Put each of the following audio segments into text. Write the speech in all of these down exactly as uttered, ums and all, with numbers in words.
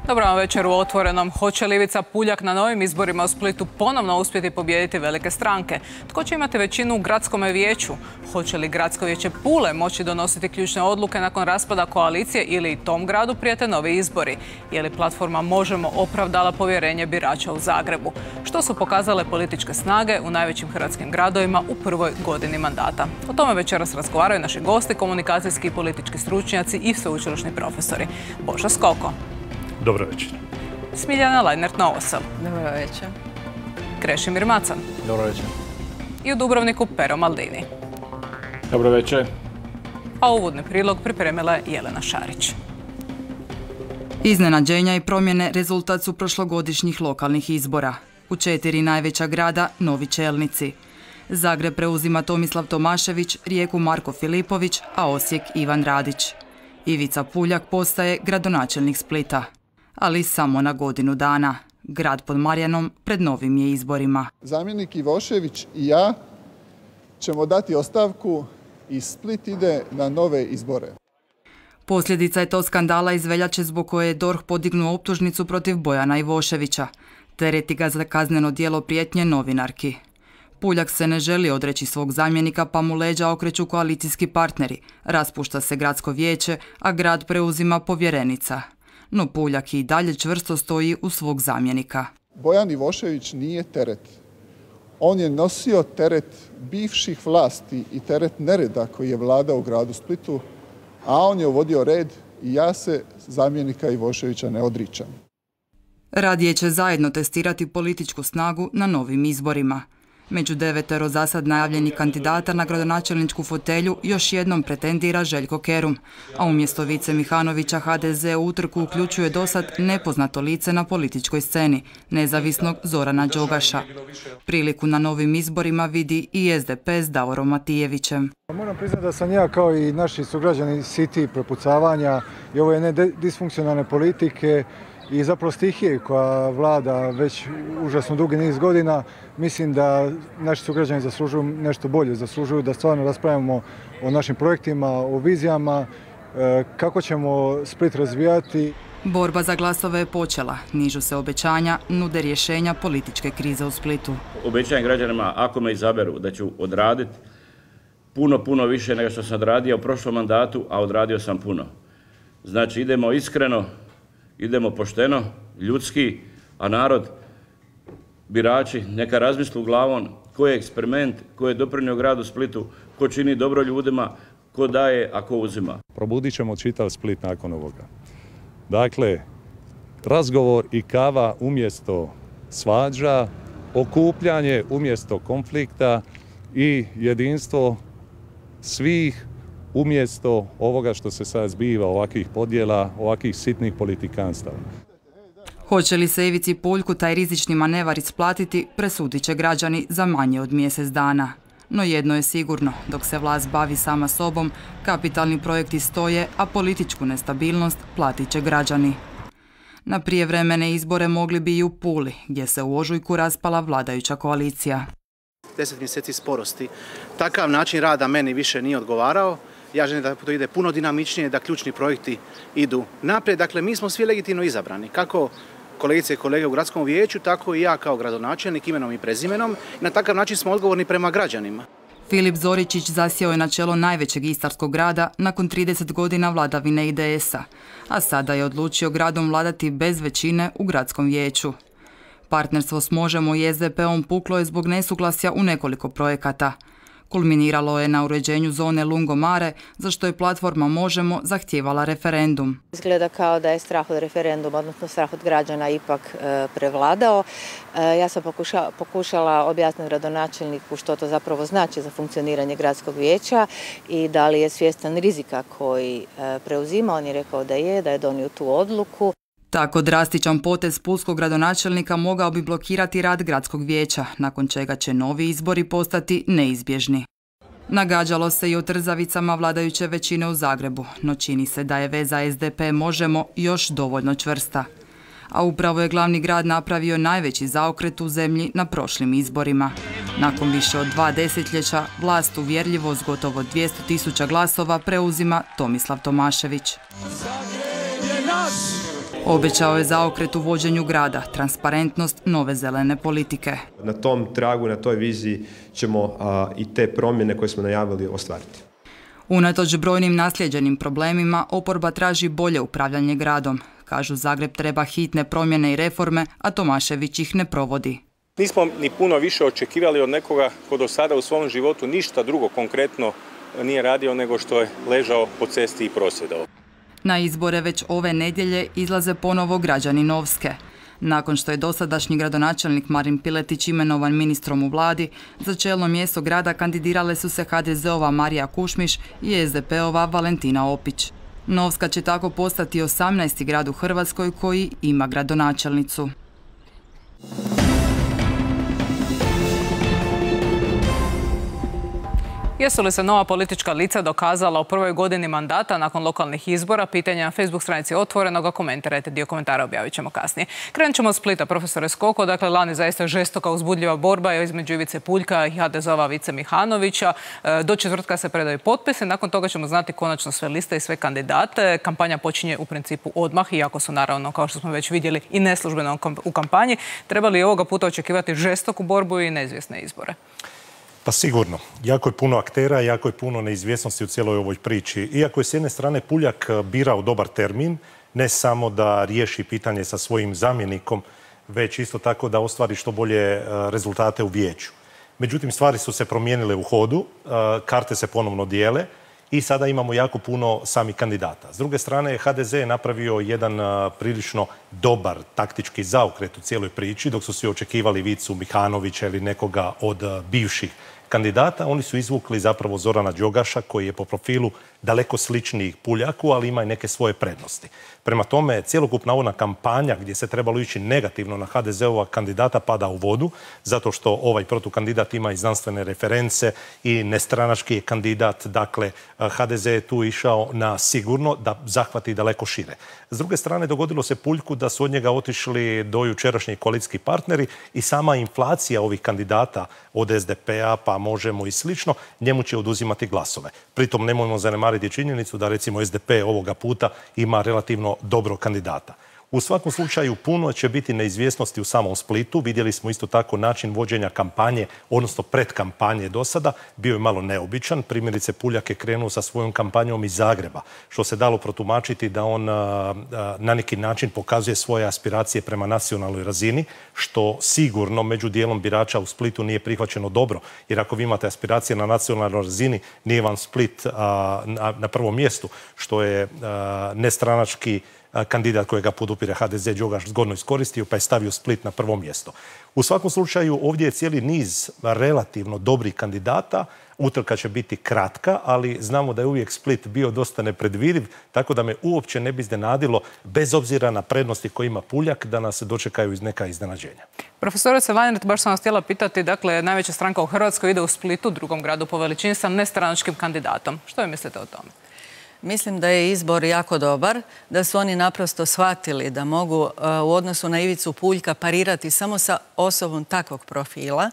Dobro vam večer u Otvorenom. Hoće li Ivica Puljak na novim izborima u Splitu ponovno uspjeti pobijediti velike stranke? Tko će imati većinu u gradskom vijeću? Hoće li gradsko vijeće Pule moći donositi ključne odluke nakon raspada koalicije ili i tom gradu prijete novi izbori? Je li platforma Možemo opravdala povjerenje birača u Zagrebu? Što su pokazale političke snage u najvećim hrvatskim gradovima u prvoj godini mandata? O tome večeras razgovaraju naši gosti, komunikacijski i politički stručnjaci i sveučilišni profesori. Božo Skoko. Dobro večer. Smiljana Lajnert-Novosel. Dobro večer. Krešimir Macan. Dobro večer. I u Dubrovniku Pero Maldini. Dobro večer. A uvodni prilog pripremila je Jelena Šarić. Iznenađenja i promjene rezultat su prošlogodišnjih lokalnih izbora. U četiri najveća grada novi čelnici. Zagreb preuzima Tomislav Tomašević, Rijeku Marko Filipović, a Osijek Ivan Radić. Ivica Puljak postaje gradonačelnik Splita, ali samo na godinu dana. Grad pod Marjanom pred novim je izborima. Zamjenik Ivošević i ja ćemo dati ostavku i Split ide na nove izbore. Posljedica je to skandala iz veljače zbog koje je D O R H podignuo optužnicu protiv Bojana Ivoševića. Tereti ga za kazneno djelo prijetnje novinarki. Puljak se ne želi odreći svog zamjenika pa mu leđa okreću koalicijski partneri. Raspušta se gradsko vijeće, a grad preuzima povjerenica. No Puljak i dalje čvrsto stoji u svog zamjenika. Bojan Ivošević nije teret. On je nosio teret bivših vlasti i teret nereda koji je vladao u gradu Splitu, a on je uvodio red i ja se zamjenika Ivoševića ne odričam. Radije će zajedno testirati političku snagu na novim izborima. Među devetero zasad najavljenih kandidata na gradonačelničku fotelju još jednom pretendira Željko Kerum, a umjesto Vice Mihanovića H D Z u utrku uključuje dosad nepoznato lice na političkoj sceni, nezavisnog Zorana Đogaša. Priliku na novim izborima vidi i S D P s Davorom Matijevićem. Moram priznati da sam ja kao i naši sugrađani siti prepucavanja i ove jedne disfunkcionalne politike i zapravo stihije koja vlada već užasno dugi niz godina. Mislim da naši sugrađani zaslužuju nešto bolje, zaslužuju da stvarno raspravimo o našim projektima, o vizijama, kako ćemo Split razvijati. Borba za glasove je počela, nižu se obećanja, nude rješenja političke krize u Splitu. Obećajem građanima, ako me izaberu, da ću odraditi puno, puno više nego što sam odradio u prošlom mandatu, a odradio sam puno. Znači idemo iskreno, idemo pošteno, ljudski, a narod, birači, neka razmislu glavom ko je eksperiment, ko je doprinio gradu Splitu, ko čini dobro ljudima, ko daje, a ko uzima. Probudit ćemo čitav Split nakon ovoga. Dakle, razgovor i kava umjesto svađa, okupljanje umjesto konflikta i jedinstvo svih umjesto ovoga što se sad zbiva, ovakvih podjela, ovakvih sitnih politikanstava. Hoće li se Ivici Puljku taj rizični manevar isplatiti, presudit će građani za manje od mjesec dana. No jedno je sigurno, dok se vlast bavi sama sobom, kapitalni projekti stoje, a političku nestabilnost platit će građani. Na prijevremene izbore mogli bi i u Puli, gdje se u ožujku raspala vladajuća koalicija. Deset mjeseci sporosti. Takav način rada meni više nije odgovarao. Ja želim da to ide puno dinamičnije, da ključni projekti idu naprijed. Dakle, mi smo svi legitimno izabrani. Kako kolegice i kolege u gradskom vijeću, tako i ja kao gradonačelnik imenom i prezimenom. I na takav način smo odgovorni prema građanima. Filip Zoričić zasjeo je na čelo najvećeg istarskog grada nakon trideset godina vladavine I D S-a, a sada je odlučio gradom vladati bez većine u gradskom vijeću. Partnerstvo s Možemo i S D P-om puklo je zbog nesuglasja u nekoliko projekata. Kulminiralo je na uređenju zone Lungomare, za što je platforma Možemo zahtijevala referendum. Izgleda kao da je strah od referenduma, odnosno strah od građana ipak e, prevladao. E, ja sam pokuša, pokušala objasniti gradonačelniku što to zapravo znači za funkcioniranje gradskog vijeća i da li je svjestan rizika koji e, preuzima. On je rekao da je, da je donio tu odluku. Tako drastičan potez pulskog gradonačelnika mogao bi blokirati rad gradskog vijeća, nakon čega će novi izbori postati neizbježni. Nagađalo se i o trzavicama vladajuće većine u Zagrebu, no čini se da je veza S D P Možemo još dovoljno čvrsta. A upravo je glavni grad napravio najveći zaokret u zemlji na prošlim izborima. Nakon više od dva desetljeća, vlast uvjerljivo s gotovo dvjesto tisuća glasova preuzima Tomislav Tomašević. Obećao je zaokret u vođenju grada, transparentnost nove zelene politike. Na tom tragu, na toj viziji ćemo a, i te promjene koje smo najavili ostvariti. Unatoč brojnim naslijeđenim problemima, oporba traži bolje upravljanje gradom. Kažu, Zagreb treba hitne promjene i reforme, a Tomašević ih ne provodi. Nismo ni puno više očekivali od nekoga ko do sada u svom životu ništa drugo konkretno nije radio nego što je ležao po cesti i prosvjedao. Na izbore već ove nedjelje izlaze ponovo građani Novske. Nakon što je dosadašnji gradonačelnik Marin Piletić imenovan ministrom u vladi, za čelno mjesto grada kandidirale su se ha de zeova Marija Kušmiš i es de peova Valentina Opić. Novska će tako postati osamnaesti grad u Hrvatskoj koji ima gradonačelnicu. Jesu li se nova politička lica dokazala u prvoj godini mandata nakon lokalnih izbora? Pitanje na Facebook stranici Otvorenog, komentirajte, dio komentara objavit ćemo kasnije. Krenut ćemo od Splita, profesore Skoko. Dakle, lani zaista žestoka uzbudljiva borba između Ivice Puljka i ha de zeova Vice Mihanovića. Do četvrtka se predaju potpise, nakon toga ćemo znati konačno sve liste i sve kandidate. Kampanja počinje u principu odmah, iako su naravno, kao što smo već vidjeli, i neslužbeno u kampanji. Treba li ovoga puta očekivati žestoku borbu i neizvjesne izbore? Pa sigurno. Jako je puno aktera, jako je puno neizvjesnosti u cijeloj ovoj priči. Iako je s jedne strane Puljak birao dobar termin, ne samo da riješi pitanje sa svojim zamjenikom, već isto tako da ostvari što bolje rezultate u vijeću. Međutim, stvari su se promijenile u hodu, karte se ponovno dijele i sada imamo jako puno samih kandidata. S druge strane, ha de ze je napravio jedan prilično dobar taktički zaokret u cijeloj priči, dok su svi očekivali Vicu Mihanovića ili nekoga od bivših kandidata. Oni su izvukli zapravo Zorana Đogaša, koji je po profilu daleko sličniji Puljaku, ali ima i neke svoje prednosti. Prema tome, cjelokupna ona kampanja gdje se trebalo ići negativno na ha de zeova kandidata pada u vodu, zato što ovaj protukandidat ima i znanstvene reference i nestranački je kandidat. Dakle, ha de ze je tu išao na sigurno da zahvati daleko šire. S druge strane, dogodilo se Puljku da su od njega otišli do jučerašnji koalicijski partneri i sama inflacija ovih kandidata od es de pea, pa Možemo i slično, njemu će oduzimati glasove. Pritom nemojmo zanemariti činjenicu da recimo es de pe ovoga puta ima relativno dobrog kandidata. U svakom slučaju puno će biti neizvjesnosti u samom Splitu. Vidjeli smo isto tako način vođenja kampanje, odnosno predkampanje do sada, bio je malo neobičan. Primjerice, Puljak je krenuo sa svojom kampanjom iz Zagreba, što se dalo protumačiti da on na neki način pokazuje svoje aspiracije prema nacionalnoj razini, što sigurno među dijelom birača u Splitu nije prihvaćeno dobro. Jer ako vi imate aspiracije na nacionalnoj razini, nije vam Split na prvom mjestu, što je nestranački kandidat kojega podupire ha de ze Đogaš zgodno iskoristio, pa je stavio Split na prvo mjesto. U svakom slučaju ovdje je cijeli niz relativno dobrih kandidata. Utrka će biti kratka, ali znamo da je uvijek Split bio dosta nepredvidiv, tako da me uopće ne bi iznenadilo, bez obzira na prednosti koje ima Puljak, da nas dočekaju iz neka iznenađenja. Profesorice Lajnert, baš sam vas htjela pitati, dakle, najveća stranka u Hrvatskoj ide u Splitu, drugom gradu po veličini, sa nestranačkim kandidatom. Što vi mislite o tome? Mislim da je izbor jako dobar, da su oni naprosto shvatili da mogu u odnosu na Ivicu Puljka parirati samo sa osobom takvog profila.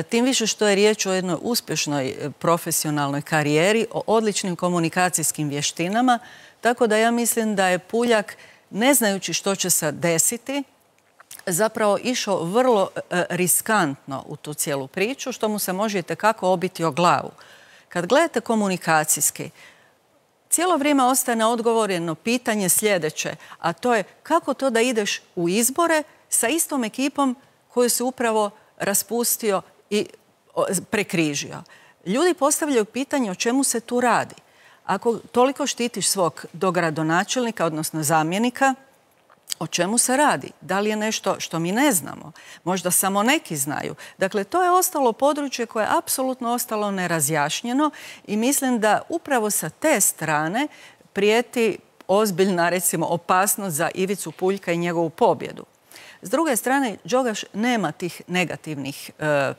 Tim više što je riječ o jednoj uspješnoj profesionalnoj karijeri, o odličnim komunikacijskim vještinama, tako da ja mislim da je Puljak, ne znajući što će se desiti, zapravo išao vrlo riskantno u tu cijelu priču, što mu se može itekako obiti o glavu. Kad gledate komunikacijski, cijelo vrijeme ostaje neodgovoreno pitanje sljedeće, a to je kako to da ideš u izbore sa istom ekipom koju se upravo raspustio i prekrižio. Ljudi postavljaju pitanje o čemu se tu radi. Ako toliko štitiš svog dogradonačelnika, odnosno zamjenika, o čemu se radi? Da li je nešto što mi ne znamo? Možda samo neki znaju. Dakle, to je ostalo područje koje je apsolutno ostalo nerazjašnjeno i mislim da upravo sa te strane prijeti ozbiljna, recimo, opasnost za Ivicu Puljka i njegovu pobjedu. S druge strane, Đogaš nema tih negativnih e,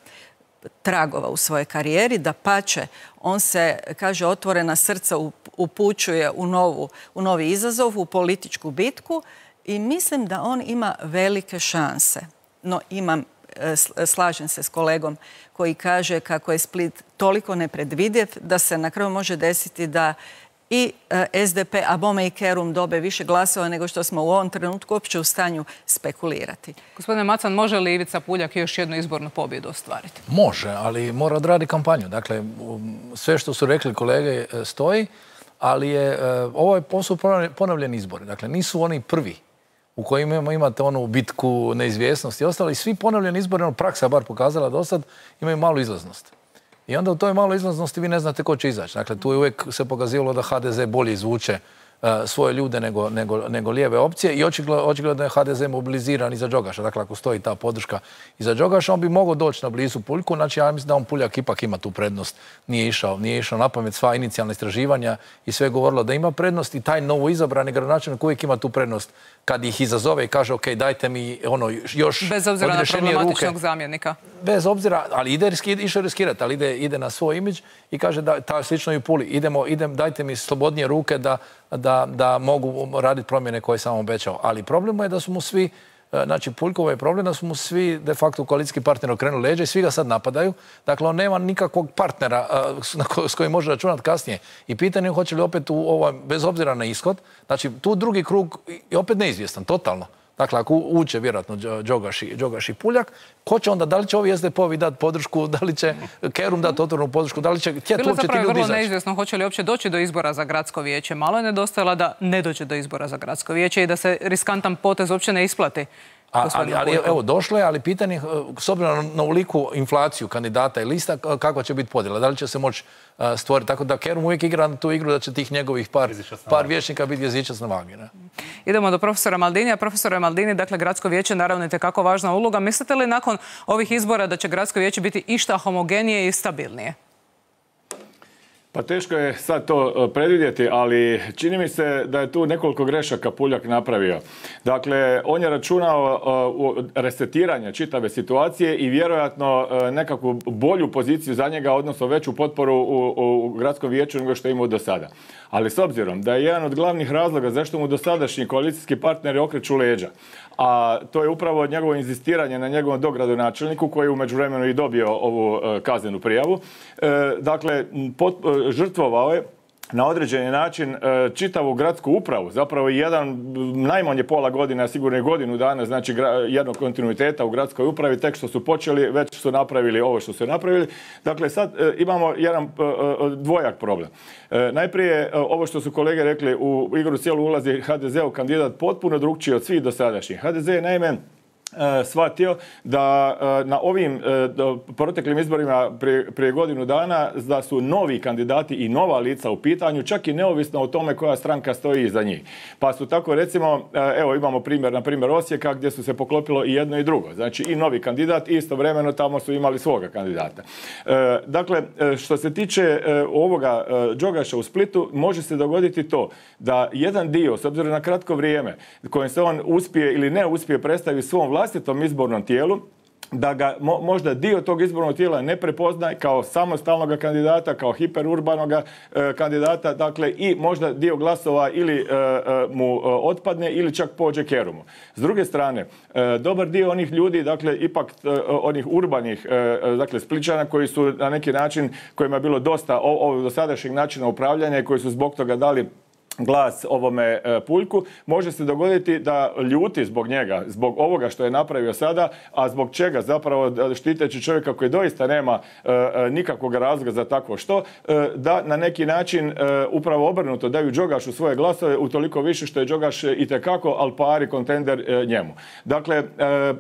tragova u svojoj karijeri, da pače, on se, kaže, otvorena srca upućuje u, novu, u novi izazov, u političku bitku, i mislim da on ima velike šanse. No imam, slažem se s kolegom koji kaže kako je Split toliko nepredvidljiv da se na kraju može desiti da i S D P, a bome i Kerum dobe više glasova nego što smo u ovom trenutku uopće u stanju spekulirati. Gospodine Macan, može li Ivica Puljak još jednu izbornu pobjedu ostvariti? Može, ali mora odraditi kampanju. Dakle, sve što su rekli kolege stoji, ali je ovo su ponovljeni izbori. Dakle, nisu oni prvi u kojima imate onu bitku, neizvjesnost i ostalo. I svi ponovljeni izbori, ono praksa bar pokazala do sad, imaju malu izlaznost. I onda u toj maloj izlaznosti vi ne znate ko će izaći. Dakle, tu je uvijek se pokazivalo da H D Z bolje izvuče uh, svoje ljude nego, nego, nego lijeve opcije i očigledno, očigledno je H D Z mobiliziran iza Đogaša. Dakle, ako stoji ta podrška iza Đogaša, on bi mogao doći na blizu Puljku. Znači, ja mislim da on Puljak ipak ima tu prednost. Nije išao, nije išao na pamet sva inicijalna istraživanja i sve govorilo da ima prednost i taj novo izabrani gradonačelnik uvijek ima tu prednost kad ih izazove i kaže, ok, dajte mi ono još bez obzira na problematičnog zamjenika. Bez obzira, ali ide išao riskirati, ali ide, ide na svoj imidž i kaže da ta slično i u Puli. Idemo, idem, dajte mi slobodnije ruke da, da, da mogu raditi promjene koje sam obećao. Ali problem je da su mu svi, znači Puljkovo je problem da su mu svi de facto koalicijski partneri okrenuli leđa i svi ga sad napadaju. Dakle, on nema nikakvog partnera s kojim može računati kasnije. I pitanje je hoće li opet u ovo, bez obzira na ishod, znači tu drugi krug je opet neizvjestan, totalno. Dakle, ako uče vjerojatno Đogaš i Puljak, ko će onda, da li će ovi S D P-ovi dati podršku, da li će Kerum dati otvorenu podršku, da li će htjeti uopće ti ljudi izaći? Bilo zapravo vrlo neizvjesno hoće li uopće doći do izbora za gradsko vijeće. Malo je nedostajalo da ne dođe do izbora za gradsko vijeće i da se riskantan potez uopće ne isplati. A, ali, ali evo, došlo je, ali pitanje, s obzirom na uliku inflaciju kandidata i lista, kakva će biti podjela? Da li će se moći uh, stvoriti? Tako da Kerum uvijek igra na tu igru da će tih njegovih par, par vijećnika biti jezičac na vagi. Ne? Idemo do profesora Maldinija. Profesore Maldini, dakle, gradsko vijeće naravno je itekako važna uloga. Mislite li nakon ovih izbora da će gradsko vijeće biti išta homogenije i stabilnije? Pa teško je sad to predvidjeti, ali čini mi se da je tu nekoliko grešaka Puljak napravio. Dakle, on je računao u resetiranje čitave situacije i vjerojatno nekakvu bolju poziciju za njega, odnosno veću potporu u, u gradskom vijeću nego što je imao do sada. Ali s obzirom da je jedan od glavnih razloga zašto mu dosadašnji koalicijski partneri okreću leđa, a to je upravo njegovo inzistiranje na njegovom dogradonačelniku koji je u međuvremenu i dobio ovu kaznenu prijavu. Dakle, pot, žrtvovao je na određeni način čitavu gradsku upravu, zapravo jedan, najmanje pola godina, sigurno i godinu dana, znači jednog kontinuiteta u gradskoj upravi, tek što su počeli, već su napravili ovo što su napravili. Dakle, sad imamo jedan dvojak problem. Najprije, ovo što su kolege rekli, u igru cijelu ulazi H D Z-ov kandidat potpuno drugčiji od svih dosadašnjih. H D Z je naime shvatio da na ovim proteklim izborima prije, prije godinu dana da su novi kandidati i nova lica u pitanju, čak i neovisno o tome koja stranka stoji iza njih. Pa su tako recimo, evo imamo primjer, na primjer Osijeka gdje su se poklopilo i jedno i drugo. Znači i novi kandidat i istovremeno tamo su imali svoga kandidata. Dakle, što se tiče ovoga Đogaša u Splitu, može se dogoditi to da jedan dio, s obzirom na kratko vrijeme kojim se on uspije ili ne uspije predstaviti svom vlastitom izbornom tijelu, da ga mo, možda dio tog izbornog tijela ne prepoznaje kao samostalnog kandidata, kao hiperurbanog e, kandidata, dakle i možda dio glasova ili e, e, mu e, otpadne ili čak pođe Kerumu. S druge strane, e, dobar dio onih ljudi, dakle ipak e, onih urbanih, e, dakle Spličana koji su na neki način, kojima je bilo dosta ovog dosadašnjeg načina upravljanja i koji su zbog toga dali glas ovome Puljku, može se dogoditi da ljuti zbog njega, zbog ovoga što je napravio sada, a zbog čega zapravo štiteći čovjeka koji doista nema e, nikakvog razloga za takvo što, e, da na neki način e, upravo obrnuto daju Đogašu svoje glasove, utoliko više što je Đogaš itekako al pari kontender e, njemu. Dakle, e,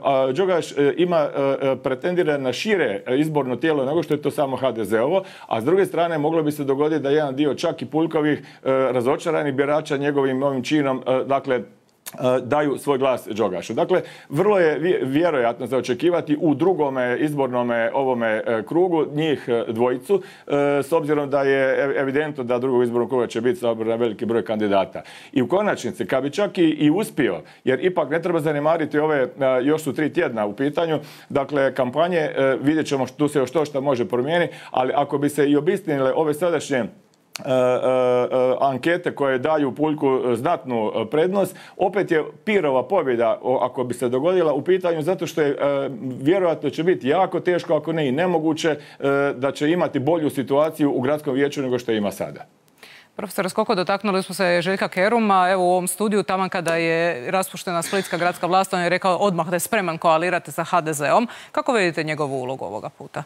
a Đogaš e, ima e, pretendira na šire izborno tijelo nego što je to samo H D Z-ovo, a s druge strane moglo bi se dogoditi da jedan dio čak i Puljkovih e, razočaranih birača njegovim novim činom, dakle, daju svoj glas Đogašu. Dakle, vrlo je vjerojatno za očekivati u drugome izbornome ovome krugu njih dvojicu, s obzirom da je evidentno da drugog izbornog kruga će biti na veliki broj kandidata. I u konačnici, kad bi čak i, i uspio, jer ipak ne treba zanemariti ove, još su tri tjedna u pitanju, dakle, kampanje, vidjet ćemo tu se još to što može promijeniti, ali ako bi se i obistinile ove sadašnje Uh, uh, uh, ankete koje daju Puljku znatnu prednost, opet je Pirova pobjeda, ako bi se dogodila, u pitanju zato što je uh, vjerojatno će biti jako teško, ako ne i nemoguće, uh, da će imati bolju situaciju u gradskom vijeću nego što ima sada. Profesor Skoko, dotaknuli smo se Željka Keruma. Evo u ovom studiju, taman kada je raspuštena splitska gradska vlast, on je rekao odmah da je spreman koalirati sa ha de ze-om. Kako vidite njegovu ulogu ovoga puta?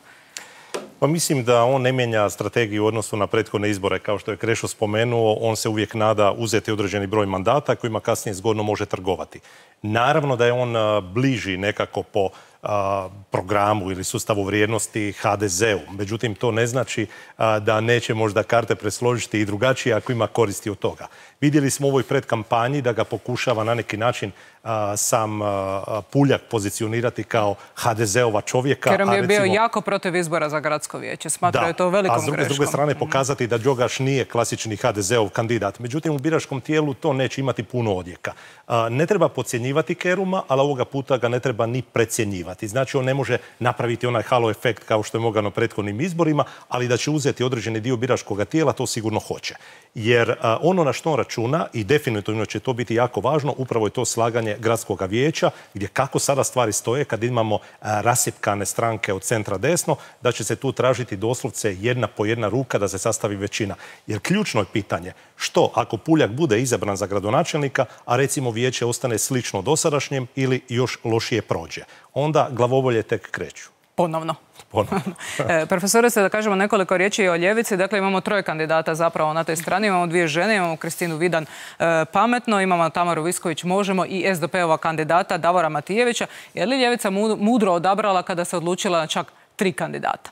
Pa mislim da on ne mijenja strategiju u odnosu na prethodne izbore. Kao što je Krešo spomenuo, on se uvijek nada uzeti određeni broj mandata kojima kasnije zgodno može trgovati. Naravno da je on bliži nekako po a, programu ili sustavu vrijednosti ha de ze-u. Međutim, to ne znači a, da neće možda karte presložiti i drugačije ako ima koristi od toga. Vidjeli smo u ovoj predkampanji da ga pokušava na neki način a, sam a, Puljak pozicionirati kao ha de ze-ova čovjeka. Kerum je bio jako protiv izbora za gradsko vijeće. Smatrao je to velikom greškom. A s druge strane pokazati da Đogaš nije klasični ha de ze-ov kandidat. Međutim, u biračkom tijelu to neće imati puno odjeka. A, ne treba podcjenjivati Keruma, ali ovoga puta ga ne treba ni precjenjivati. Znači, on ne može napraviti onaj halo efekt kao što je mogao na prethodnim izborima, ali da će uzeti određeni dio biračkog tijela, to sigurno hoće. Jer a, ono na što on računa, i definitivno će to biti jako važno, upravo je to slaganje gradskog vijeća, gdje kako sada stvari stoje, kad imamo a, rasipkane stranke od centra desno, da će se tu tražiti doslovce jedna po jedna ruka da se sastavi većina. Jer ključno je pitanje što ako Puljak bude izabran za gradonačelnika, a recimo vijeće ostane slično dosadašnjem ili još lošije prođe. Onda glavobolje tek kreću. Ponovno. Ponovno. e, profesore, se da kažemo nekoliko riječi o ljevici. Dakle, imamo troje kandidata zapravo na toj strani. Imamo dvije žene, imamo Kristinu Vidan e, Pametno, imamo Tamaru Visković Možemo i es de pe-ova kandidata Davora Matijevića. Je li ljevica mudro odabrala kada se odlučila na čak tri kandidata?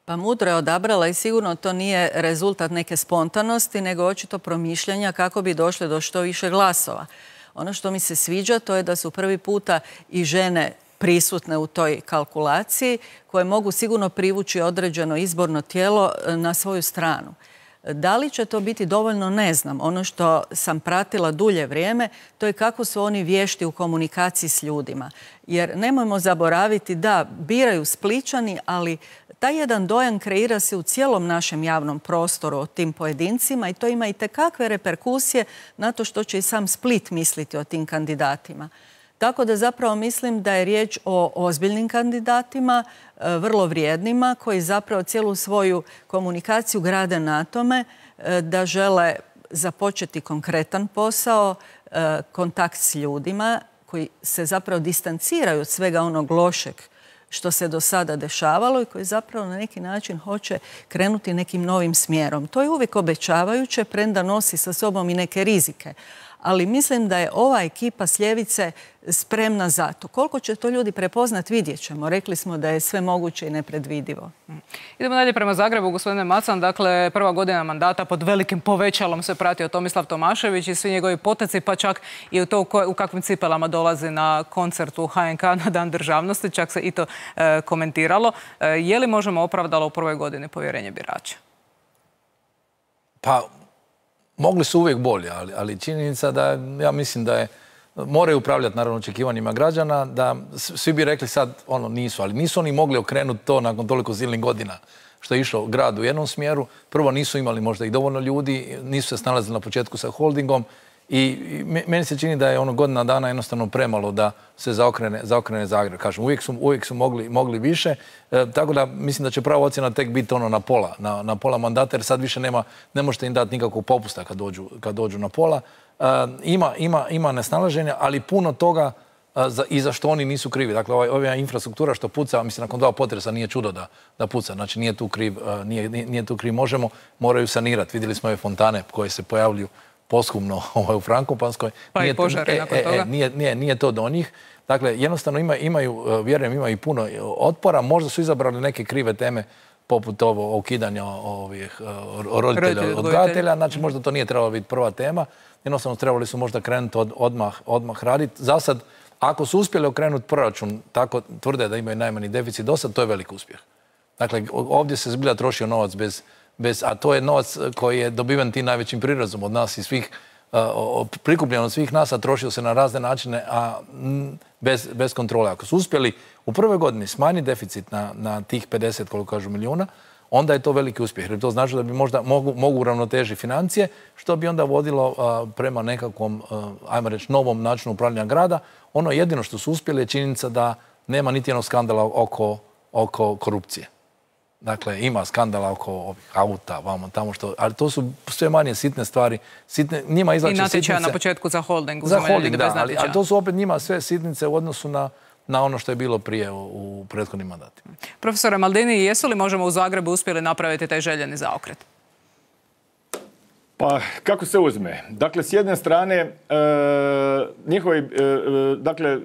Pa mudro je odabrala i sigurno to nije rezultat neke spontanosti, nego očito promišljanja kako bi došle do što više glasova. Ono što mi se sviđa to je da su prvi puta i žene prisutne u toj kalkulaciji koje mogu sigurno privući određeno izborno tijelo na svoju stranu. Da li će to biti dovoljno, ne znam. Ono što sam pratila dulje vrijeme, to je kako su oni vješti u komunikaciji s ljudima. Jer nemojmo zaboraviti da biraju Splićani, ali taj jedan dojam kreira se u cijelom našem javnom prostoru o tim pojedincima i to ima i tekakve reperkusije na to što će i sam Split misliti o tim kandidatima. Tako da zapravo mislim da je riječ o ozbiljnim kandidatima, vrlo vrijednima, koji zapravo cijelu svoju komunikaciju grade na tome da žele započeti konkretan posao, kontakt s ljudima koji se zapravo distanciraju od svega onog lošeg što se do sada dešavalo i koji zapravo na neki način hoće krenuti nekim novim smjerom. To je uvijek obećavajuće, premda nosi sa sobom i neke rizike. Ali mislim da je ova ekipa s ljevice spremna za to. Koliko će to ljudi prepoznat, vidjet ćemo. Rekli smo da je sve moguće i nepredvidivo. Idemo dalje prema Zagrebu, gospodine Macan. Dakle, prva godina mandata pod velikim povećalom se pratio Tomislav Tomašević i svi njegovi poteci, pa čak i u to u kakvim cipelama dolazi na koncert u ha en ka na Dan državnosti. Čak se i to e, komentiralo. E, je li možemo opravdalo u prvoj godini povjerenje birača? Pa, mogli su uvijek bolje, ali, ali činjenica da ja mislim da je moraju upravljati naravno očekivanjima građana, da svi bi rekli sad ono nisu, ali nisu oni mogli okrenuti to nakon toliko silnih godina što je išao grad u jednom smjeru. Prvo nisu imali možda i dovoljno ljudi, nisu se snalazili na početku sa holdingom i meni se čini da je ono godina dana jednostavno premalo da se zaokrene, zaokrene Zagreb. Kažem, uvijek su, uvijek su mogli, mogli više, e, tako da mislim da će prava ocjena tek biti ono na pola, na, na pola mandata, jer sad više nema, ne možete im dati nikakvog popusta kad dođu, kad dođu na pola. E, ima, ima, ima nesnalaženja, ali puno toga a, za, i za što oni nisu krivi. Dakle, ovaj, ova infrastruktura što puca, mislim, nakon dva potresa nije čudo da, da puca. Znači, nije tu kriv, a, nije, nije tu kriv Možemo, moraju sanirati. Vidjeli smo ove fontane koje se pojavljuju poshumno ovaj, u Frankopanskoj. Pa nije, i požare e, nakon e, toga. E, nije, nije, nije to do njih. Dakle, jednostavno ima, imaju, vjerujem, imaju puno otpora. Možda su izabrali neke krive teme poput ovo ukidanja ovih roditelja, odgajatelja. Znači, možda to nije trebalo biti prva tema. Jednostavno, trebali su možda krenuti od, odmah, odmah raditi. Za sad, ako su uspjeli okrenuti proračun, tako tvrde da imaju najmanji deficit do sad, to je velik uspjeh. Dakle, ovdje se zbilja trošio novac bez, bez, a to je novac koji je dobiven tim najvećim prirazom od nas i svih, uh, prikupljen od svih nas, a trošio se na razne načine, a m, bez, bez kontrole. Ako su uspjeli u prvoj godini smanjiti deficit na, na tih pedeset, koliko kažu, milijuna, onda je to veliki uspjeh. Jer to znači da bi možda mogu, mogu uravnotežiti financije, što bi onda vodilo uh, prema nekakvom, uh, ajmo reći, novom načinu upravljanja grada. Ono jedino što su uspjeli je činjenica da nema niti jednog skandala oko, oko korupcije. Dakle, ima skandala oko ovih auta, vamo tamo što, ali to su sve manje sitne stvari. Sitne, njima izlače sitnice. I natječaja na početku za holding. Za holding, da, ali a to su opet njima sve sitnice u odnosu na, na ono što je bilo prije u, u prethodnim mandatima. Profesore Maldini, jesu li možemo u Zagrebu uspjeli napraviti taj željeni zaokret? Pa, kako se uzme? Dakle, s jedne strane, e, njihovi, e, dakle, e,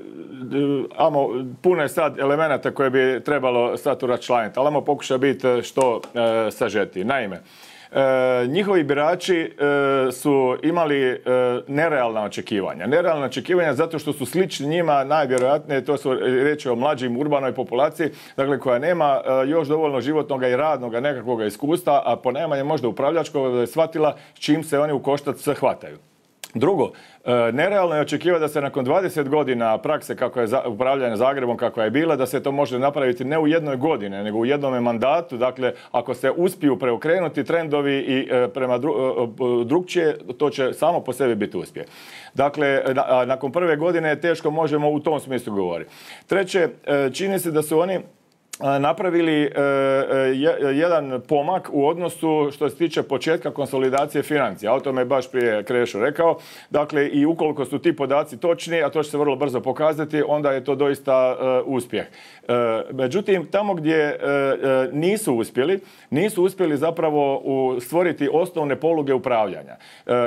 amo, puno je sad elemenata koje bi trebalo sad uračlaniti, ali amo pokuša biti što e, sažeti. Naime, E, njihovi birači e, su imali e, nerealna očekivanja. Nerealna očekivanja zato što su slični njima, najvjerojatnije, to su reći o mlađim urbanoj populaciji, dakle koja nema e, još dovoljno životnog i radnog nekakvog iskustva, a ponajmanje možda upravljačkog da je shvatila s čim se oni u koštac hvataju. Drugo, nerealno je očekivati da se nakon dvadeset godina prakse kako je upravljanje Zagrebom kakva je bila, da se to može napraviti ne u jednoj godini, nego u jednom mandatu. Dakle, ako se uspiju preokrenuti trendovi i prema drugčije, to će samo po sebi biti uspjeh. Dakle, nakon prve godine teško možemo u tom smislu govoriti. Treće, čini se da su oni napravili jedan pomak u odnosu što se tiče početka konsolidacije financija. O tome je baš prije Krešo rekao. Dakle, i ukoliko su ti podaci točni, a to će se vrlo brzo pokazati, onda je to doista uspjeh. Međutim, tamo gdje nisu uspjeli, nisu uspjeli zapravo stvoriti osnovne poluge upravljanja.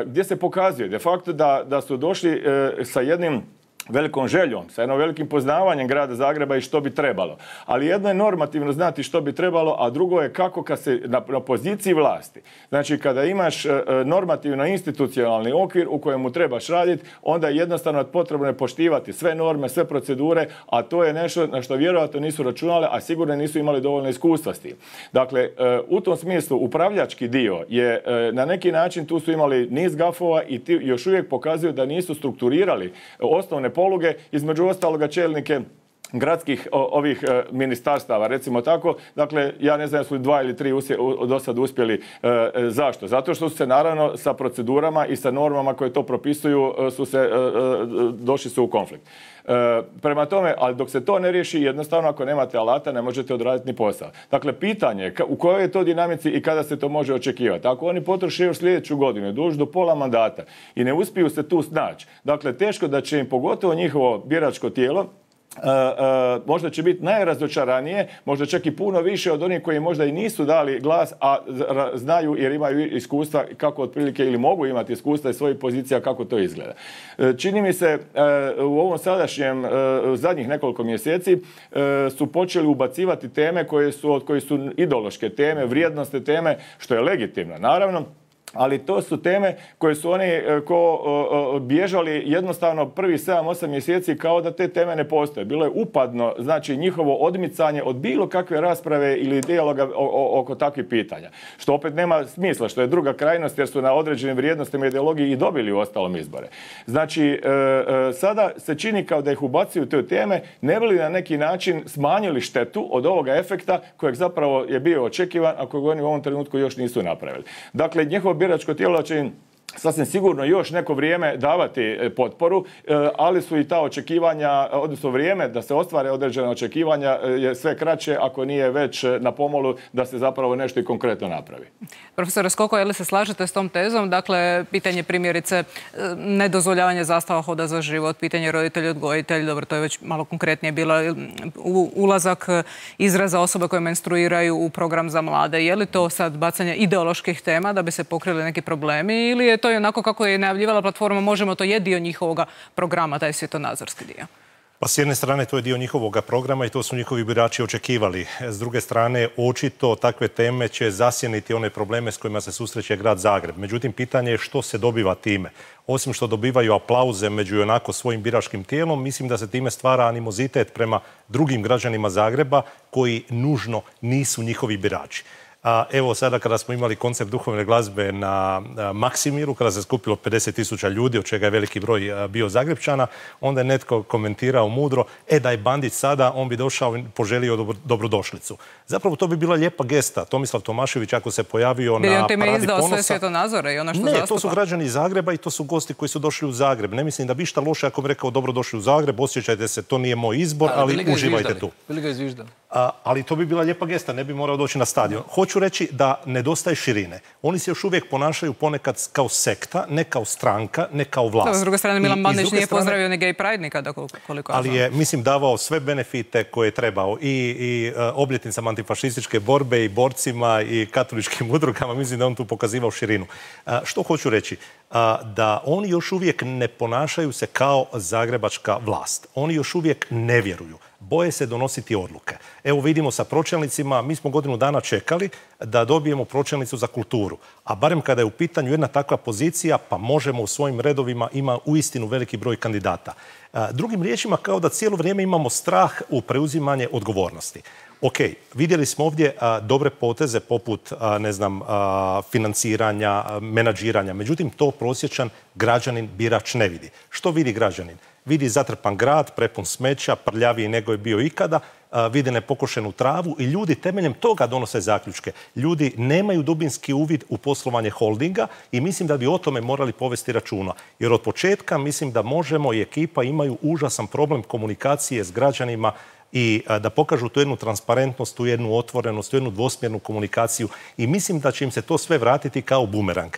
Gdje se pokazuje de facto da, da su došli sa jednim velikom željom, sa jednom velikim poznavanjem grada Zagreba i što bi trebalo. Ali jedno je normativno znati što bi trebalo, a drugo je kako kad se na, na poziciji vlasti. Znači, kada imaš e, normativno institucionalni okvir u kojemu trebaš raditi, onda je jednostavno potrebno je poštivati sve norme, sve procedure, a to je nešto na što vjerojatno nisu računali, a sigurno nisu imali dovoljno iskustva s tim. Dakle, e, u tom smislu upravljački dio je e, na neki način tu su imali niz gafova i ti još uvijek pokazuju da nisu strukturirali osnovne poluge, između ostaloga čelnike gradskih ovih e, ministarstava, recimo tako. Dakle, ja ne znam su li dva ili tri usje, u, do sad uspjeli. E, zašto? Zato što su se naravno sa procedurama i sa normama koje to propisuju su se, e, došli su u konflikt. E, prema tome, ali dok se to ne riješi, jednostavno ako nemate alata ne možete odraditi ni posao. Dakle, pitanje je u kojoj je to dinamici i kada se to može očekivati. Ako oni potroše još sljedeću godinu, dođu do pola mandata i ne uspiju se tu snaći, dakle, teško da će im pogotovo njihovo biračko tijelo Uh, uh, možda će biti najrazočaranije, možda čak i puno više od onih koji možda i nisu dali glas, a znaju jer imaju iskustva kako otprilike ili mogu imati iskustva iz svojih pozicija kako to izgleda. Uh, čini mi se uh, u ovom sadašnjem uh, zadnjih nekoliko mjeseci uh, su počeli ubacivati teme koje su, od koje su ideološke teme, vrijednostne teme, što je legitimno, naravno. Ali to su teme koje su oni ko o, o, bježali jednostavno prvi sedam osam mjeseci kao da te teme ne postoje. Bilo je upadno, znači njihovo odmicanje od bilo kakve rasprave ili dijaloga oko takvih pitanja. Što opet nema smisla, što je druga krajnost jer su na određenim vrijednostima i ideologiji i dobili u ostalom izbore. Znači, e, e, sada se čini kao da ih ubacuju te teme, ne bi li na neki način smanjili štetu od ovoga efekta kojeg zapravo je bio očekivan, a kojeg oni u ovom trenutku još nisu napravili. Dakle, njihovo biračko tijelo će im sasvim sigurno još neko vrijeme davati potporu, ali su i ta očekivanja, odnosno vrijeme da se ostvare određena očekivanja je sve kraće ako nije već na pomolu da se zapravo nešto i konkretno napravi. Profesor Skoko, je li se slažete s tom tezom? Dakle, pitanje primjerice nedozvoljavanja zastava hoda za život, pitanje roditelj-odgojitelj, dobro, to je već malo konkretnije bilo, ulazak izraza osoba koje menstruiraju u program za mlade. Je li to sad bacanje ideoloških tema da bi se pokrili neki problemi ili je to je onako kako je najavljivala platforma Možemo, to je dio njihovoga programa, taj svjetonazorski dio? Pa s jedne strane to je dio njihovoga programa i to su njihovi birači očekivali. S druge strane, očito takve teme će zasjeniti one probleme s kojima se susreće grad Zagreb. Međutim, pitanje je što se dobiva time. Osim što dobivaju aplauze među onako svojim biračkim tijelom, mislim da se time stvara animozitet prema drugim građanima Zagreba koji nužno nisu njihovi birači. A evo sada kada smo imali koncept duhovne glazbe na Maksimiru, kada se skupilo pedeset tisuća ljudi, od čega je veliki broj bio Zagrepčana, onda je netko komentirao mudro, e da je Bandić sada, on bi došao i poželio dobro, dobrodošlicu. Zapravo to bi bila lijepa gesta. Tomislav Tomašević ako se pojavio bi na Paradi Ponosa... izdao sve svjetonazore i ono što ne, zastupa? To su građani Zagreba i to su gosti koji su došli u Zagreb. Ne mislim da bi šta loše ako bi rekao dobrodošli u Zagreb, osjećajte se, to nije moj izbor, ali, ali uživajte tu. Bili ga izviždali. ali to bi bila lijepa gesta, ne bi morao doći na stadion. Hoću reći da nedostaje širine. Oni se još uvijek ponašaju ponekad kao sekta, ne kao stranka, ne kao vlast. S druge strane, Milan Bandić nije pozdravio ni gay pride nikada, koliko ali je, mislim, davao sve benefite koje je trebao i, i obljetnicama antifašističke borbe i borcima i katoličkim udrugama. Mislim da on tu pokazivao širinu. Što hoću reći? Da oni još uvijek ne ponašaju se kao zagrebačka vlast. Oni još uvijek ne vjeruju. Boje se donositi odluke. Evo vidimo sa pročelnicima, mi smo godinu dana čekali da dobijemo pročelnicu za kulturu. A barem kada je u pitanju jedna takva pozicija, pa možemo u svojim redovima, ima uistinu veliki broj kandidata. Drugim riječima, kao da cijelo vrijeme imamo strah u preuzimanje odgovornosti. Ok, vidjeli smo ovdje a, dobre poteze poput, a, ne znam, a, financiranja, a, menadžiranja. Međutim, to prosječan građanin birač ne vidi. Što vidi građanin? Vidi zatrpan grad, prepun smeća, prljaviji nego je bio ikada, a, vidi nepokošenu travu i ljudi temeljem toga donose zaključke. Ljudi nemaju dubinski uvid u poslovanje holdinga i mislim da bi o tome morali povesti računa. Jer od početka mislim da možemo i ekipa imaju užasan problem komunikacije s građanima i da pokažu tu jednu transparentnost, tu jednu otvorenost, tu jednu dvosmjernu komunikaciju i mislim da će im se to sve vratiti kao bumerang.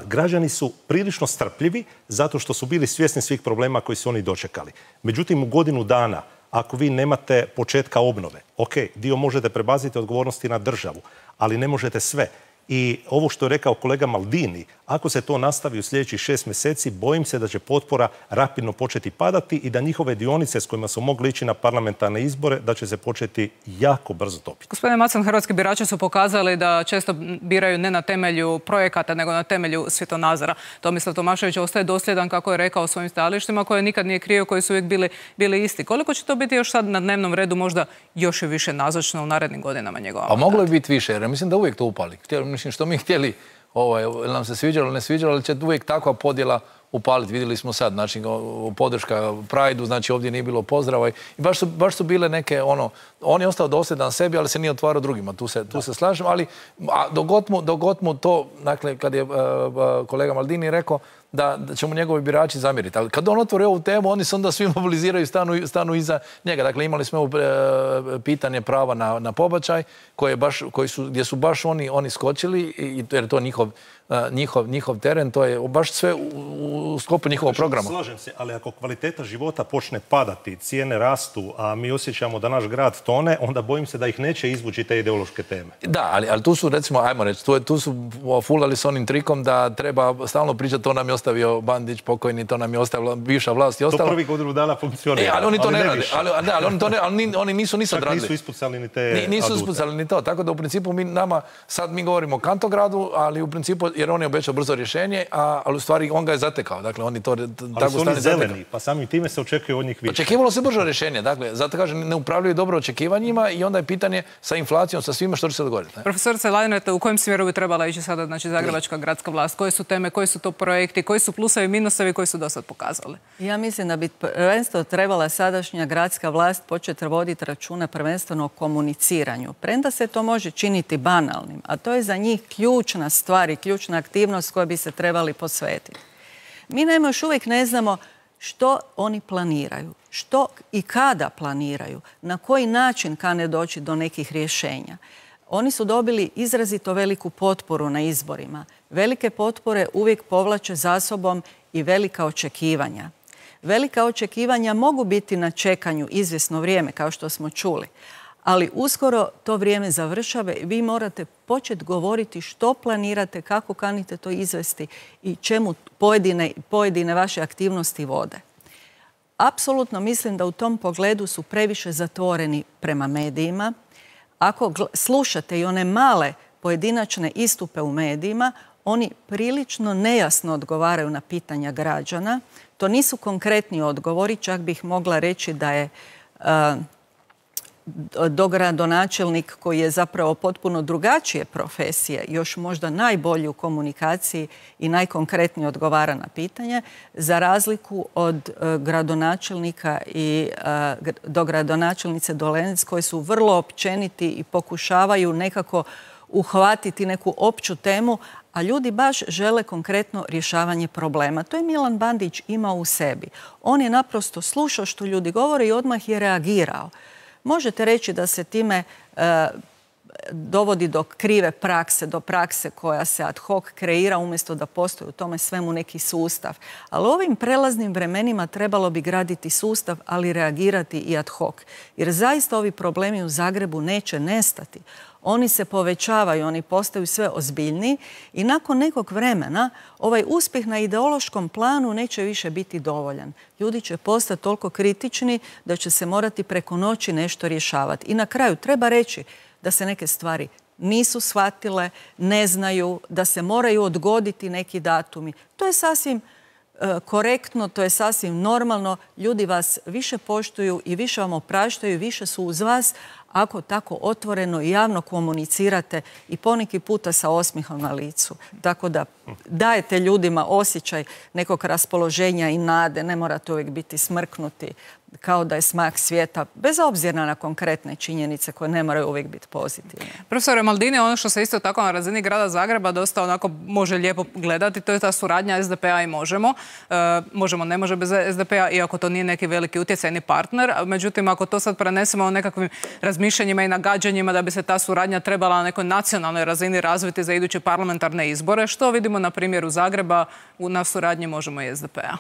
Građani su prilično strpljivi zato što su bili svjesni svih problema koji su oni dočekali. Međutim, u godinu dana, ako vi nemate početka obnove, ok, dio možete prebaciti odgovornosti na državu, ali ne možete sve. I ovo što je rekao kolega Maldini, ako se to nastavi u sljedećih šest mjeseci, bojim se da će potpora rapidno početi padati i da njihove dionice s kojima su mogli ići na parlamentarne izbore, da će se početi jako brzo topiti. Gospodine Macan, hrvatski birači su pokazali da često biraju ne na temelju projekata, nego na temelju svjetonazora. Tomislav Tomašević ostaje dosljedan, kako je rekao, svojim stajalištima, koje nikad nije krio, koji su uvijek bili, bili isti. Koliko će to biti još sad na dnevnom redu, možda još i više nazočno u narednim godinama njegova? Pa moglo je biti više, jer mislim da uvijek to upali. Mislim, što mi htjeli, ovaj, nam se sviđalo ili ne sviđalo, ali će uvijek takva podjela upaliti. Vidjeli smo sad, znači, podrška Prajdu, znači ovdje nije bilo pozdrava i baš su, baš su bile neke, ono, on je ostao dosljedan sebi, ali se nije otvarao drugima, tu se, tu se slažem, ali dogod mu, dogod mu to, dakle, kad je uh, kolega Maldini rekao da, da će mu njegovi birači zamjeriti. Ali kad on otvori ovu temu, oni se onda svi mobiliziraju i stanu, stanu iza njega. Dakle, imali smo ovo e, pitanje prava na, na pobačaj, koje baš, koji su, gdje su baš oni, oni skočili, i, jer to je njihov, njihov, njihov teren, to je baš sve u, u sklopu njihovog programa. Slažem se, ali ako kvaliteta života počne padati, cijene rastu, a mi osjećamo da naš grad tone, onda bojim se da ih neće izvući te ideološke teme. Da, ali, ali tu su, recimo, ajmo reći, tu, tu su fulali s onim trikom da treba stalno pričati, to nam je ostavio Bandić pokojni, to nam je ostavila bivša vlast i ostalo. To prvi godinu dana funkcionira. E, ali oni to ali ne, ne rade. Ali, da, ali oni, to ne, ali oni nisu nisu odradili. Čak nisu ispucali ni te Ni, Nisu adute. ispucali ni to. Tako da u principu mi nama, sad mi govorimo o Kantogradu, ali u principu, jer on je obećao brzo rješenje, a, ali u stvari on ga je zatekao. Dakle, oni to ali tako su oni zeleni, pa samim time se očekuje od njih više. Očekivalo se brzo rješenje. Dakle, zato kažem, ne upravljaju dobro očekivanjima i onda je pitanje sa inflacijom, sa svima što će se dogoditi. Ne? Profesorice Lajnete, u kojem smjeru bi trebala ići sada, znači, zagrebačka gradska vlast? Koje su teme, koji su to projekti, koji su plusevi, minusovi koji su do sad pokazali? Ja mislim da bi prvenstveno trebala sadašnja gradska vlast početi voditi računa prvenstveno o komuniciranju. Premda se to može činiti banalnim, a to je za njih ključna stvar i ključna aktivnost koja bi se trebali posvetiti. Mi naime još uvijek ne znamo što oni planiraju, što i kada planiraju, na koji način kane doći do nekih rješenja. Oni su dobili izrazito veliku potporu na izborima. Velike potpore uvijek povlače za sobom i velika očekivanja. Velika očekivanja mogu biti na čekanju izvjesno vrijeme, kao što smo čuli, ali uskoro to vrijeme završava i vi morate početi govoriti što planirate, kako kanite to izvesti i čemu pojedine, pojedine vaše aktivnosti vode. Apsolutno mislim da u tom pogledu su previše zatvoreni prema medijima. Ako slušate i one male pojedinačne istupe u medijima, oni prilično nejasno odgovaraju na pitanja građana. To nisu konkretni odgovori, čak bih mogla reći da je uh, dogradonačelnik koji je zapravo potpuno drugačije profesije, još možda najbolji u komunikaciji i najkonkretnije odgovara na pitanje, za razliku od uh, gradonačelnika i uh, dogradonačelnice Dolenec koji su vrlo općeniti i pokušavaju nekako uhvatiti neku opću temu, a ljudi baš žele konkretno rješavanje problema. To je Milan Bandić imao u sebi. On je naprosto slušao što ljudi govore i odmah je reagirao. možete reći da se time e, dovodi do krive prakse, do prakse koja se ad hoc kreira umjesto da postoji u tome svemu neki sustav. Ali u ovim prelaznim vremenima trebalo bi graditi sustav, ali reagirati i ad hoc. Jer zaista ovi problemi u Zagrebu neće nestati. Oni se povećavaju, oni postaju sve ozbiljniji i nakon nekog vremena ovaj uspjeh na ideološkom planu neće više biti dovoljan. Ljudi će postati toliko kritični da će se morati preko noći nešto rješavati. I na kraju treba reći da se neke stvari nisu shvatile, ne znaju, da se moraju odgoditi neki datumi. To je sasvim e, korektno, to je sasvim normalno. Ljudi vas više poštuju i više vam opraštaju, više su uz vas ako tako otvoreno i javno komunicirate i poneki puta sa osmihom na licu. Tako da dajete ljudima osjećaj nekog raspoloženja i nade, ne morate uvijek biti smrknuti kao da je smak svijeta, bez obzira na konkretne činjenice koje ne moraju uvijek biti pozitivne. Profesore Maldini, ono što se isto tako na razini grada Zagreba dosta onako može lijepo gledati, to je ta suradnja es de pe a i Možemo. E, možemo ne može bez es de pe a, iako to nije neki veliki utjecajni partner. Međutim, ako to sad prenesemo o nekakvim razmišljanjima i nagađanjima da bi se ta suradnja trebala na nekoj nacionalnoj razini razviti za iduće parlamentarne izbore, što vidimo na primjeru Zagreba na suradnji Možemo i es de pe a?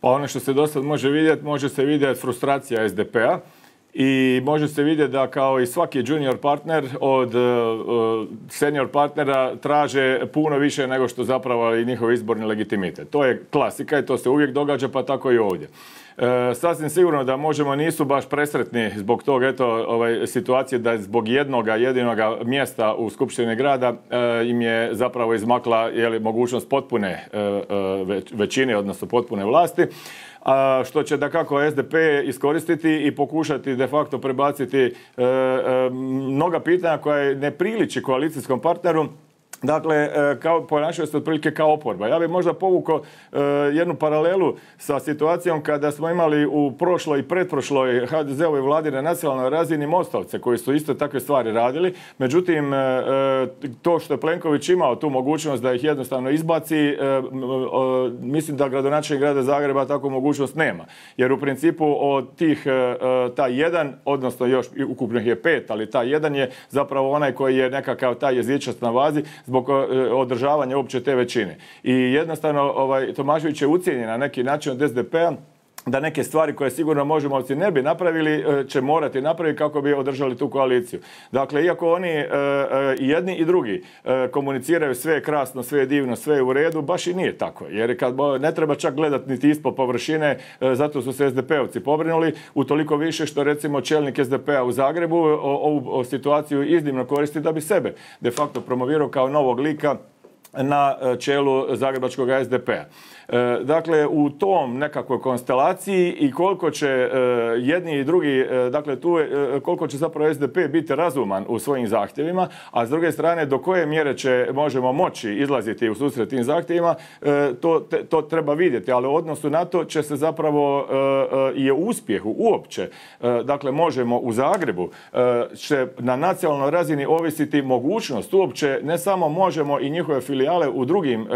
Pa ono što se do sad može vidjeti, može se vidjeti frustracija es de pe a i može se vidjeti da kao i svaki junior partner od uh, senior partnera traže puno više nego što zapravo i njihov izborni legitimitet. To je klasika i to se uvijek događa, pa tako i ovdje. E, sasvim sigurno da Možemo nisu baš presretni zbog tog eto, ovaj, situacije da zbog jednoga jedinoga mjesta u Skupštini grada e, im je zapravo izmakla jeli, mogućnost potpune e, e, većine, odnosno potpune vlasti. A, što će dakako es de pe iskoristiti i pokušati de facto prebaciti e, e, mnoga pitanja koja ne priliči koalicijskom partneru. Dakle, kao, ponašaju se otprilike kao oporba. Ja bih možda povukao e, jednu paralelu sa situacijom kada smo imali u prošloj i pretprošloj ha de ze-ovoj vladi na nacionalnoj razini Mostovce koji su isto takve stvari radili. Međutim, e, to što je Plenković imao tu mogućnost da ih jednostavno izbaci, e, e, mislim da gradonačelnik grada Zagreba takvu mogućnost nema. Jer u principu od tih e, taj jedan, odnosno još ukupno je pet, ali taj jedan je zapravo onaj koji je nekakav taj jezičac na vazi zbog održavanja uopće te većine. I jednostavno ovaj, Tomašević je ucijenjen na neki način od es de pe a da neke stvari koje sigurno Možemovci ne bi napravili, će morati napraviti kako bi održali tu koaliciju. Dakle, iako oni e, i jedni i drugi e, komuniciraju sve je krasno, sve je divno, sve je u redu, baš i nije tako. Jer kad ne treba čak gledati niti ispod površine, e, zato su se es de pe ovci pobrinuli, utoliko više što recimo čelnik es de pe a u Zagrebu ovu situaciju iznimno koristi da bi sebe de facto promovirao kao novog lika na čelu zagrebačkog es de pe a. Dakle, u tom nekakvoj konstelaciji i koliko će jedni i drugi, dakle tu je, koliko će zapravo es de pe biti razuman u svojim zahtjevima, a s druge strane do koje mjere će možemo moći izlaziti u susret tim zahtjevima, to, to treba vidjeti, ali u odnosu na to će se zapravo i u uspjehu uopće, dakle možemo u Zagrebu, će na nacionalnoj razini ovisiti mogućnost uopće ne samo Možemo i njihove filijale u drugim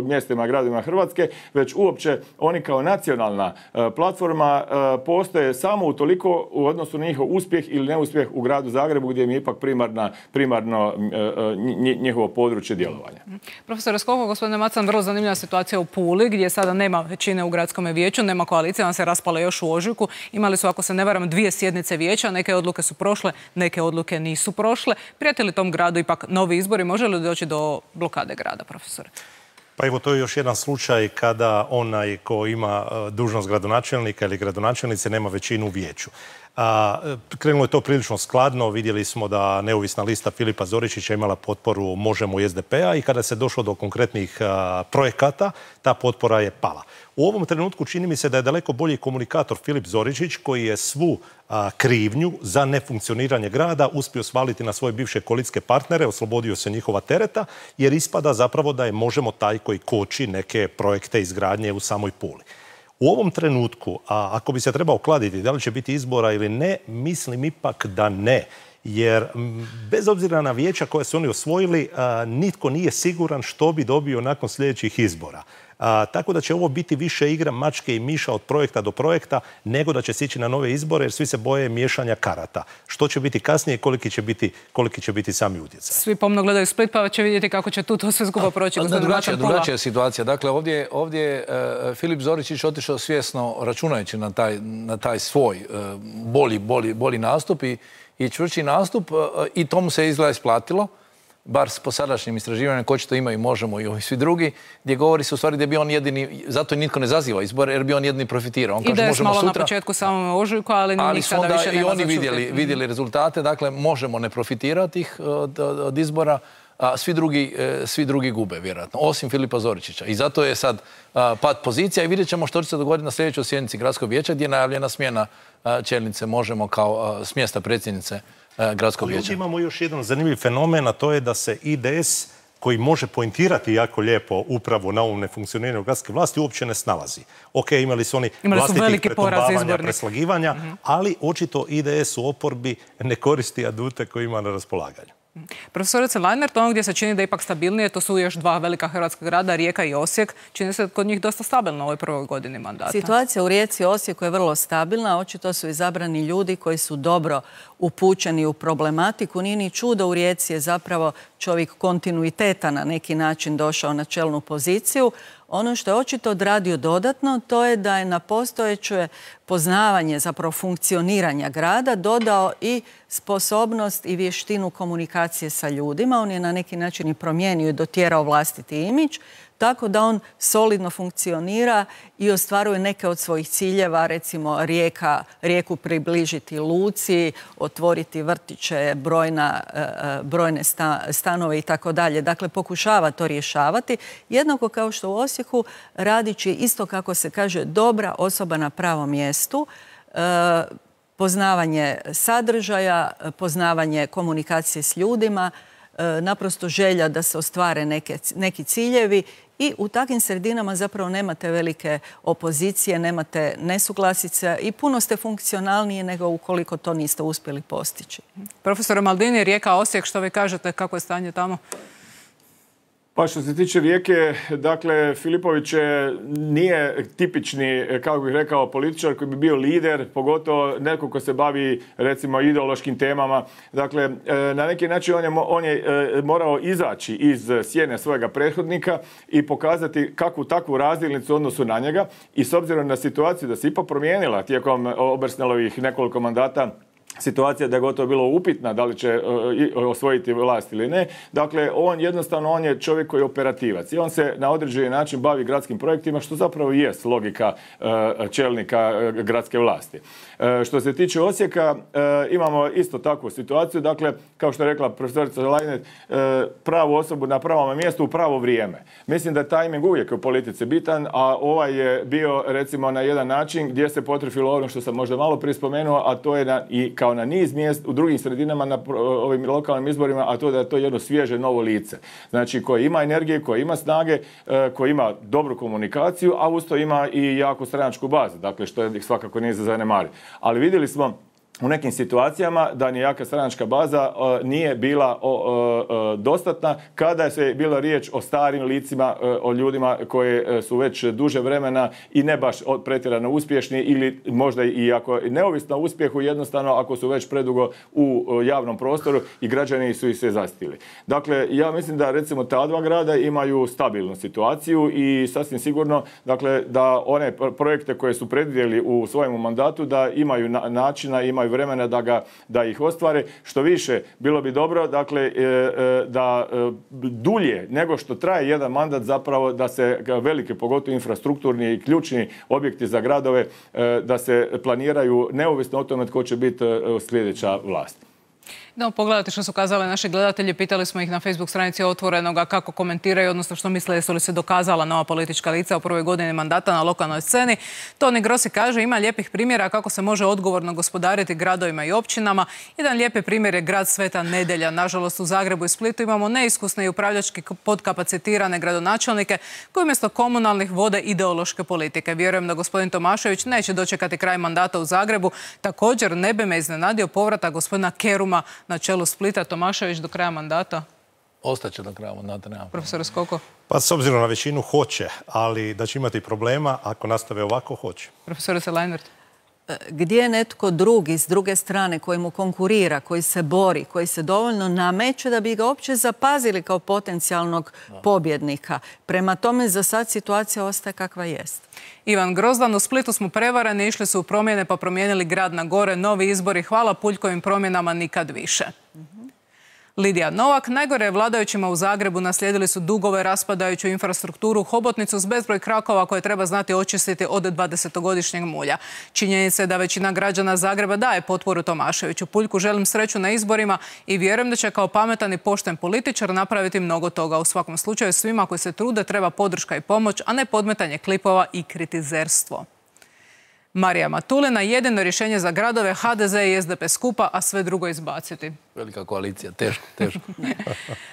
mjestima, gradovima Hrvatske, već uopće oni kao nacionalna e, platforma e, postoje samo utoliko u odnosu na njihov uspjeh ili neuspjeh u gradu Zagrebu gdje im je ipak primarna, primarno e, njihovo područje djelovanja. Profesor Skoko, gospodine Macan, vrlo zanimljiva situacija u Puli gdje sada nema većine u gradskom vijeću, nema koalicije, ona se raspala još u ožujku. Imali su, ako se ne varam, dvije sjednice vijeća, neke odluke su prošle, neke odluke nisu prošle. Prijete li tom gradu ipak novi izbori? Može li doći do blokade grada, profesore? Pa evo, to je još jedan slučaj kada onaj ko ima dužnost gradonačelnika ili gradonačelnice nema većinu u vijeću. A, krenulo je to prilično skladno, vidjeli smo da neovisna lista Filipa Zoričića imala potporu Možemo i es de pe a i kada se došlo do konkretnih a, projekata, ta potpora je pala. U ovom trenutku čini mi se da je daleko bolji komunikator Filip Zoričić koji je svu a, krivnju za nefunkcioniranje grada uspio svaliti na svoje bivše koalicijske partnere, oslobodio se njihova tereta jer ispada zapravo da je Možemo taj koji koči neke projekte izgradnje u samoj Puli. U ovom trenutku, a ako bi se trebao kladiti da li će biti izbora ili ne, mislim ipak da ne. jer bez obzira na vijeća koje su oni osvojili, nitko nije siguran što bi dobio nakon sljedećih izbora. A, tako da će ovo biti više igra mačke i miša od projekta do projekta, nego da će se ići na nove izbore, jer svi se boje miješanja karata. Što će biti kasnije i koliki će biti, koliki će biti sami utjecaj. Svi pomno gledaju Split, pa će vidjeti kako će tu to sve skupa proći. Drugačija, drugačija je situacija. Dakle, ovdje, ovdje je uh, Filip Zoričić otišao svjesno računajući na taj, na taj svoj uh, bolji, bolji, bolji nastup i, i čvrći nastup uh, i tomu se izgleda isplatilo. Bar po sadašnjim istraživanjima, ko će to ima i možemo i ovi svi drugi, gdje govori se u stvari da bi on jedini, zato nitko ne zaziva izbor, jer bi on jedini profitirao. On I da je malo na početku samom ožujku, ali, ali nikada više nema i oni vidjeli, vidjeli rezultate, dakle možemo ne profitirati ih od, od izbora, a svi drugi, svi drugi gube, vjerojatno, osim Filipa Zoričića. I zato je sad a, pad pozicija i vidjet ćemo što će se dogoditi na sljedećoj sjednici Gradskog vijeća, gdje je najavljena smjena a, čelnice Možemo kao a, s mjesta predsjednice Gradskog vijeća. Imamo još jedan zanimljiv fenomen, a to je da se I D S, koji može pointirati jako lijepo upravo na ovom nefunkcioniranju gradske vlasti, uopće ne snalazi. Ok, imali su oni imali su vlastitih pretumbavanja, preslagivanja, mm-hmm. ali očito I D S u oporbi ne koristi adute koje ima na raspolaganju. Profesorice Leinert, ono gdje se čini da je ipak stabilnije, to su još dva velika hrvatska grada, Rijeka i Osijek. Čini se kod njih dosta stabilno u ovoj prvoj godini mandata. Situacija u Rijeci i Osijeku je vrlo stabilna. Očito su izabrani ljudi koji su dobro upućeni u problematiku. Nije ni čudo, u Rijeci je zapravo čovjek kontinuiteta na neki način došao na čelnu poziciju. Ono što je očito odradio dodatno, to je da je na postojeće poznavanje, zapravo funkcioniranja grada, dodao i sposobnost i vještinu komunikacije sa ljudima. On je na neki način i promijenio i dotjerao vlastiti imidž, tako da on solidno funkcionira i ostvaruje neke od svojih ciljeva, recimo rijeka, rijeku približiti luci, otvoriti vrtiće, brojna, brojne stanove i tako dalje. Dakle, pokušava to rješavati. Jednako kao što u Osijeku radići isto, kako se kaže, dobra osoba na pravom mjestu, poznavanje sadržaja, poznavanje komunikacije s ljudima, naprosto želja da se ostvare neke, neki ciljevi i u takvim sredinama zapravo nemate velike opozicije, nemate nesuglasice i puno ste funkcionalniji nego ukoliko to niste uspjeli postići. Profesor Maldini, Rijeka, Osijek, što vi kažete, kako je stanje tamo? Pa što se tiče Rijeke, dakle, Filipović nije tipični, kako bih rekao, političar koji bi bio lider, pogotovo neko ko se bavi, recimo, ideološkim temama. Dakle, na neki način on je, on je morao izaći iz sjene svojega prethodnika i pokazati kakvu takvu razdjelnicu u odnosu na njega. I s obzirom na situaciju da se ipak promijenila tijekom Obersnelovih nekoliko mandata, situacija da je gotovo bilo upitna da li će osvojiti vlast ili ne. Dakle, on jednostavno on je čovjek koji je operativac i on se na određeni način bavi gradskim projektima, što zapravo i jest logika čelnika gradske vlasti. Što se tiče Osijeka, imamo isto takvu situaciju. Dakle, kao što je rekla profesorica Leinert, pravu osobu na pravom mjestu u pravo vrijeme. Mislim da je tajming uvijek u politici bitan, a ovaj je bio, recimo, na jedan način gdje se potrefilo ono što sam možda malo prije spomenuo, a to je na, i kao na niz mjest u drugim sredinama na ovim lokalnim izborima, a to da je to jedno svježe novo lice. Znači, koje ima energije, koje ima snage, koje ima dobru komunikaciju, a usto ima i jaku stranačku bazu. Dakle, što je svakako nije za zanemariti. Ali vidjeli smo u nekim situacijama da ni jaka stranačka baza uh, nije bila uh, uh, dostatna kada se bila riječ o starim licima, uh, o ljudima koje uh, su već duže vremena i ne baš pretjerano uspješni ili možda i ako neovisno o uspjehu, jednostavno ako su već predugo u uh, javnom prostoru i građani su ih se zastili. Dakle, ja mislim da recimo ta dva grada imaju stabilnu situaciju i sasvim sigurno, dakle, da one projekte koje su predvidjeli u svojem mandatu da imaju na, načina, imaju vremena da, ga, da ih ostvare. Što više, bilo bi dobro, dakle, da dulje nego što traje jedan mandat, zapravo da se velike, pogotovo infrastrukturni i ključni objekti za gradove, da se planiraju neovisno o tome tko će biti sljedeća vlast. Idemo pogledati što su kazali naši gledatelji. Pitali smo ih na Facebook stranici Otvorenoga kako komentiraju, odnosno što misle jesu li se dokazala nova politička lica u prvoj godini mandata na lokalnoj sceni. Toni Grossi kaže ima lijepih primjera kako se može odgovorno gospodariti gradovima i općinama. Jedan lijepi primjer je grad Sveta Nedelja. Nažalost, u Zagrebu i Splitu imamo neiskusne i upravljački podkapacitirane gradonačelnike koji umjesto komunalnih vode ideološke politike. Vjerujem da gospodin Tomašević neće dočekati kraj mandata u Zagrebu. Također ne bi me iznenadio povratak gospodina Keruma na čelu Splita, Tomašević do kraja mandata? Ostaće do kraja mandata, nema. Profesor Skoko? Pa s obzirom na većinu hoće, ali da će imati problema, ako nastave ovako, hoće. Profesorice Leinert? Gdje je netko drugi s druge strane koji mu konkurira, koji se bori, koji se dovoljno nameće da bi ga uopće zapazili kao potencijalnog pobjednika. Prema tome za sad situacija ostaje kakva jest. Ivan Grozdan, u Splitu smo prevarani, išli su u promjene pa promijenili grad na gore, novi izbori, hvala Puljkovim promjenama nikad više. Lidija Novak, najgore je vladajućima u Zagrebu, naslijedili su dugove, raspadajuću infrastrukturu, hobotnicu s bezbroj krakova koje treba znati očistiti od dvadesetogodišnjeg mulja. Činjenica je da većina građana Zagreba daje potporu Tomaševiću. Puljku želim sreću na izborima i vjerujem da će kao pametan i pošten političar napraviti mnogo toga. U svakom slučaju svima koji se trude treba podrška i pomoć, a ne podmetanje klipova i kritizerstvo. Marija Matulina, jedino rješenje za gradove, ha de ze i es de pe skupa, a sve drugo izbaciti. Velika koalicija, teško, teško.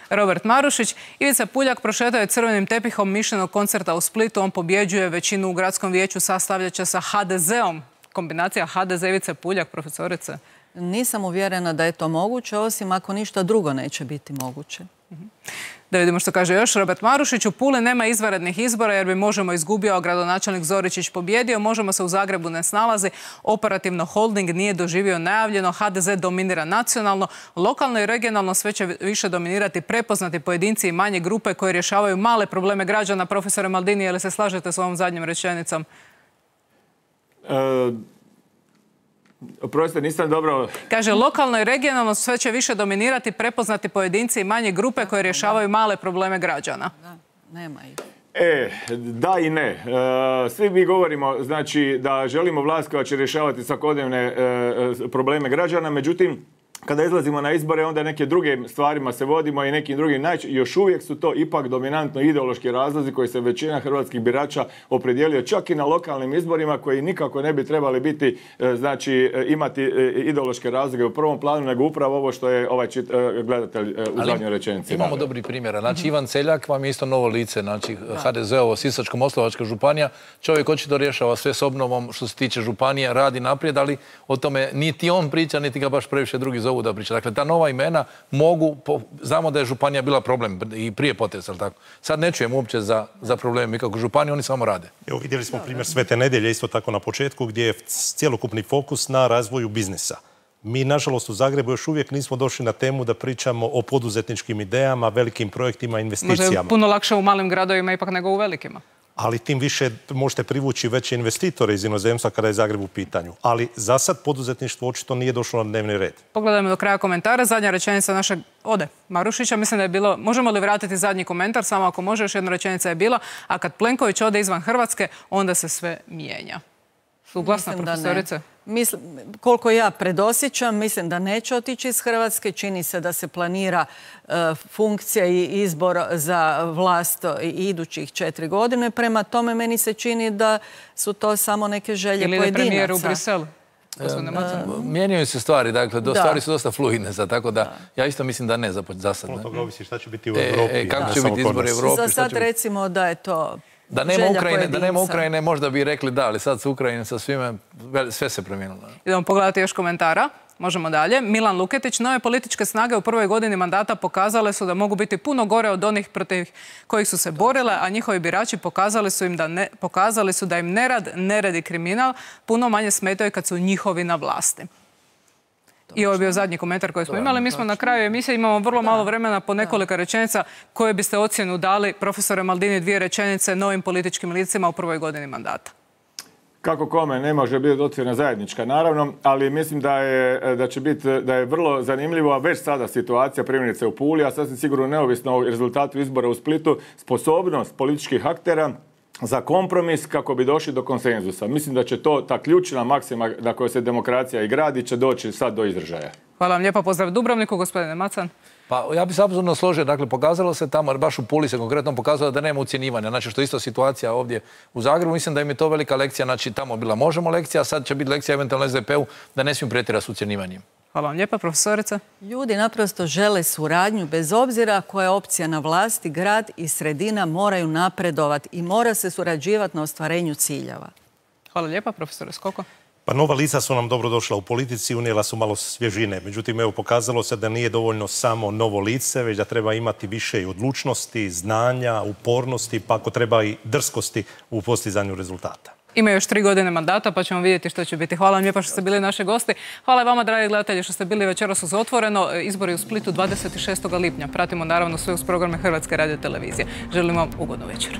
Robert Marušić, Ivica Puljak prošetao je crvenim tepihom mišljenog koncerta u Splitu. On pobjeđuje, većinu u gradskom vijeću sastavljat će sa ha de zeom. Kombinacija ha de ze Ivice Puljak, profesorice? Nisam uvjerena da je to moguće, osim ako ništa drugo neće biti moguće. Da vidimo što kaže još Robert Marušić. U Puli nema izvanrednih izbora jer bi Možemo izgubio, a gradonačelnik Zoričić pobjedio. Možemo se u Zagrebu ne snalazi. Operativno holding nije doživio najavljeno. ha de ze dominira nacionalno. Lokalno i regionalno sve će više dominirati prepoznati pojedinci i manje grupe koje rješavaju male probleme građana. Profesore Maldini, je li se slažete s ovom zadnjom rečenicom? E... Oprostite, nisam dobro... Kaže, lokalno i regionalno sve će više dominirati prepoznati pojedinci i manje grupe koje rješavaju male probleme građana. Da, nema ih. E, da i ne. E, svi mi govorimo, znači, da želimo vlast koja će rješavati svakodnevne e, probleme građana, međutim, kada izlazimo na izbore, onda neke druge stvarima se vodimo i nekim drugim najče... Još uvijek su to ipak dominantno ideološki razlozi koji se većina hrvatskih birača opredijelio čak i na lokalnim izborima koji nikako ne bi trebali biti, znači, imati ideološke razloge u prvom planu, nego upravo ovo što je ovaj čit, gledatelj u zadnjoj rečenici. Imamo dobri primjera. Znači, Ivan Celjak vam je isto novo lice, znači, ha de ze-ovo, Sisačko-moslavačka županija. Čovjek očito rješava sve s obnovom što se tiče županije, radi naprijed, ali o tome niti on priča, niti ga baš previše drugi zovu da priča. Dakle, ta nova imena mogu, znamo da je županija bila problem i prije potresa, ali tako. Sad ne čujem uopće za, za probleme kako županije, oni samo rade. Evo, vidjeli smo primjer Svete Nedjelje isto tako na početku gdje je cjelokupni fokus na razvoju biznisa. Mi, nažalost, u Zagrebu još uvijek nismo došli na temu da pričamo o poduzetničkim idejama, velikim projektima, investicijama. Možda je puno lakše u malim gradovima ipak nego u velikima. Ali tim više možete privući veće investitore iz inozemstva kada je Zagreb u pitanju. Ali za sad poduzetništvo očito nije došlo na dnevni red. Pogledajmo do kraja komentara. Zadnja rečenica našeg ode Marušića. Mislim da je bilo, možemo li vratiti zadnji komentar? Samo ako može, još jedna rečenica je bila. A kad Plenković ode izvan Hrvatske, onda se sve mijenja. Suglasna, profesorice? Mislim, koliko ja predosjećam, mislim da neće otići iz Hrvatske. Čini se da se planira uh, funkcija i izbor za vlast i idućih četiri godine. Prema tome, meni se čini da su to samo neke želje ili pojedinaca. Ili premijer u Briselu? Mijenjaju se stvari, dakle, do stvari su dosta fluidne, tako da ja isto mislim da ne za sad. Od toga ovisi šta će biti u Europi. E, kako će biti izbori u Europi? Za sad recimo da je to... Da nema Ukrajine, da nema Ukrajine, možda bi rekli da, ali sad su Ukrajine sa svime, sve se promijenilo. Idemo pogledati još komentara. Možemo dalje. Milan Luketić, nove političke snage u prvoj godini mandata pokazale su da mogu biti puno gore od onih protiv kojih su se borile, a njihovi birači pokazali su im da ne, pokazali su da im nerad, nered i kriminal puno manje smetaju kad su njihovi na vlasti. I ovo je bio zadnji komentar koji smo imali. Mi smo na kraju emisije, imamo vrlo malo vremena po nekoliko rečenica. Koje biste ocjenu dali, profesore Maldini, dvije rečenice novim političkim licima u prvoj godini mandata? Kako kome, ne može biti ocjena zajednička, naravno, ali mislim da je, da će biti, da je vrlo zanimljivo, a već sada situacija primjerice u Puli, a sasvim sigurno neovisno o rezultatu izbora u Splitu, sposobnost političkih aktera za kompromis kako bi došli do konsenzusa. Mislim da će to, ta ključna maksima na kojoj se demokracija i gradi, će doći sad do izražaja. Hvala vam lijepa, pozdrav Dubrovniku, gospodine Macan. Pa ja bih se apsolutno složio, dakle pokazalo se tamo, baš u Puli se konkretno pokazalo da nema ucjenjivanja, znači što je isto situacija ovdje u Zagrebu, mislim da im je to velika lekcija, znači tamo bila Možemo lekcija, a sad će biti lekcija eventualno es de pe-u da ne smiju pretjerati s ucjenjivanjem. Hvala vam lijepa, profesorica. Ljudi naprosto žele suradnju, bez obzira koja je opcija na vlasti, grad i sredina moraju napredovati i mora se surađivati na ostvarenju ciljeva. Hvala lijepa, profesore Skoko. Pa nova lica su nam dobro došla u politici, unijela su malo svježine. Međutim, evo, pokazalo se da nije dovoljno samo novo lice, već da treba imati više i odlučnosti, znanja, upornosti, pa ako treba i drskosti u postizanju rezultata. Ima još tri godine mandata, pa ćemo vidjeti što će biti. Hvala vam lijepa što ste bili naši gosti. Hvala vama, dragi gledatelji, što ste bili večeras uz Otvoreno. Izbori u Splitu dvadeset šestog lipnja. Pratimo naravno sve uz programe Hrvatske radiotelevizije. Želim vam ugodnu večer.